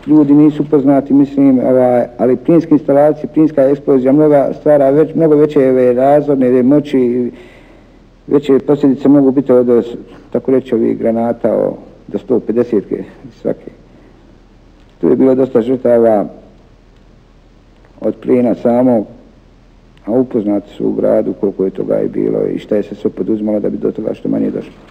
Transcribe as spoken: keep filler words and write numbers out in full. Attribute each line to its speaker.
Speaker 1: ljudi nisu poznati, mislim, ovaj, ali plinske instalacije, plinska eksplozija mnoga stvara već, mnogo veće razorne moći, veće posljedice mogu biti od, tako reći, ovih granata o, do sto pedeset svake. Tu je bilo dosta žrtava od plina samog, a upoznati su u gradu koliko je toga i bilo i šta je se sve poduzimalo da bi do toga što manje došlo.